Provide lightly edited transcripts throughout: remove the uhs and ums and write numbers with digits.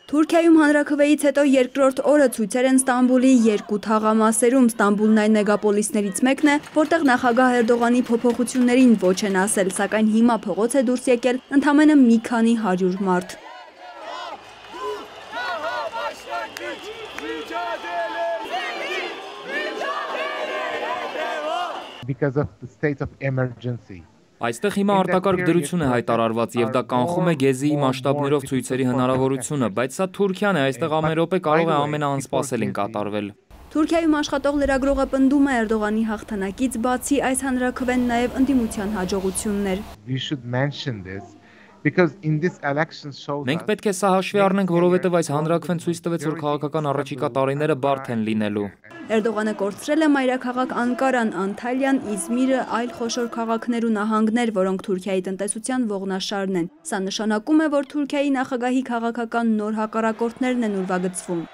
Թուրքիայում հանրաքվեից հետո երկրորդ օրը ցույցեր են Ստամբուլի երկու թաղամասերում։ Ստամբուլն այն մեգապոլիսներից մեկն է, որտեղ նախագահ Էրդողանի փոփոխություններին ոչ են ասել, սակայն հիմա փողոց է դուրս եկել ընդամենը մի քանի 100 մարդ։ Because of the state of emergency. Այստեղ հիմա արտակարգ դրություն է հայտարարված եւ դա կանխում է գեզիի մասշտաբներով ցույցերի հնարավորությունը, բայց սա Թուրքիան է, այստեղ ամեն րոպե կարող է ամենաանսպասելին կատարվել։ Թուրքիայում աշխատող լրագրողը պնդում է Էրդողանի հաղթանակից բացի այս հանրաքվեն նաև ընդդիմության հաջողությունն էր։ Մենք պետք է սա հաշվի առնենք, որովհետև այս հանրաքվեն ցույց տվեց, որ քաղաքական առաջիկա տարիները բարդ են լինելու։ Էրդողանը կորցրել է մայրաքաղաք Անկարան, Անթալիան, Իզմիրը, այլ խոշոր քաղաքներ ու նահանգներ, որոնք Թուրքիայի տնտեսության ողնաշարն են։ Սա նշանակում է, որ Թուրքիայի նախագահի քաղաքական նոր հակառակորդներն են ուրվագծվում։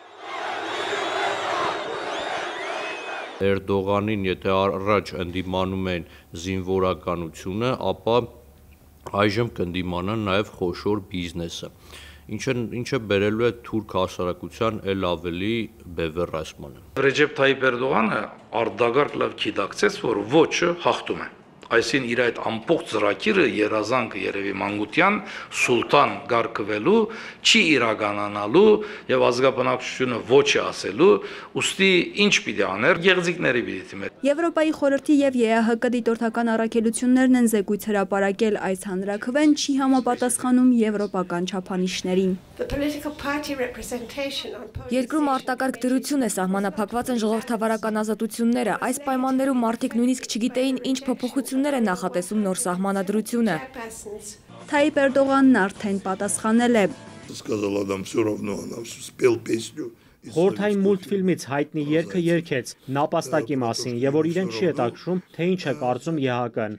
Էրդողանին, եթե առաջ ընդդիմանում են զինվորականությունը, ապա այժմ կընդդիմանան նաև խոշոր բիզնեսը, ինչը բերելու է թուրք հասարակության էլ ավելի բևեռացմանը։ Ռեջեփ Թայիպ Էրդողանը արդագարգ լավ գիտակցեց, որ ոչը հաղթում է։ Այսին իր այդ ամբողջ ծրագիրը երազանքը երևի մանկության սուլտան գարկվելու չի իրականանալու եւ ազգաբնակչությունը ոչ է ասելու, ուստի ինչ պիտի աներ գեղձիկների պիտի դիմեր։ Եվրոպայի խորհրդի եւ ԵԱՀԿ դիտորդական առաքելություններն են զեկույց հրապարակել, այս հանրաքվեն չի համապատասխանում եվրոպական չափանիշներին։ Երկրում արտակարգ դրություն է, սահմանափակված են ժողովրդավարական ազատությունները, այս պայմաններում մարդիկ նույնիսկ չգիտեին ինչ փոփոխություններ է նախատեսում նոր սահմանադրությունը։ Թայիպ Էրդողանն արդեն պատասխանել է։ Խորհրդային մուլտֆիլմից հայտնի երգը երգեց նապաստակի մասին եւ որ իրեն չի հետաքրում, թե ինչ է կարծում ԵԱՀԿ-ն։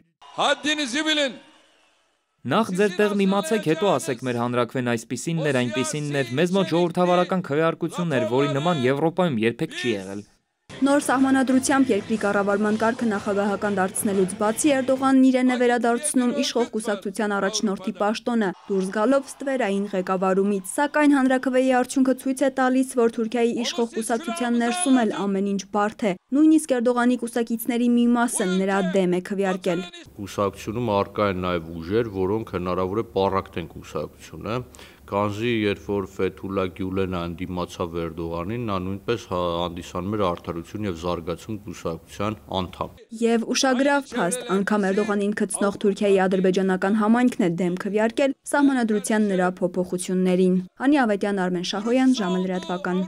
Նախ ձեր տեղն իմացեք, հետո ասեք մեր հանրաքվեն այսպիսինն էր, այնպիսինն էր, մեզ մոտ ժողովրդավարական քվեարկությունն էր, որի նման Եվրոպայում երբեք չի եղել։ Նոր սահմանադրությամբ երկրի կառավարման կարգը նախագահական դարձնելուց բացի Էրդողանն իրեն է վերադարձնում իշխող կուսակցության առաջնորդի պաշտոնը, դուրս գալով ստվերային ղեկավարումից, սակայն հանրաքվեի արդյունքը ցույց է տալիս, որ Թուրքիայի իշխող կուսակցության ներսում էլ ամեն ինչ բարդ է, նույնիսկ Էրդողանի կուսակիցների մի մասը նրա դեմ է քվեարկել։ Կուսակցությունում առկա են նաև ուժեր, որոնք հնարավոր է պառակտեն կուսակցությունը, Կանզի, երբ որ Ֆեթուլա Գյուլենը ընդդիմացավ Էրդողանին, նա նույնպես հանդիսանում էր Արդարություն եւ Զարգացում կուսակցության անդամ։ Եվ ուշագրավ փաստ, անգամ Էրդողանին գծնող Թուրքիայի ադրբեջանական համայնքն է դեմ քվեարկել սահմանադրության նրա փոփոխություններին։ Անի Ավետյան, Արմեն Շահոյան, ժամը լրատվական։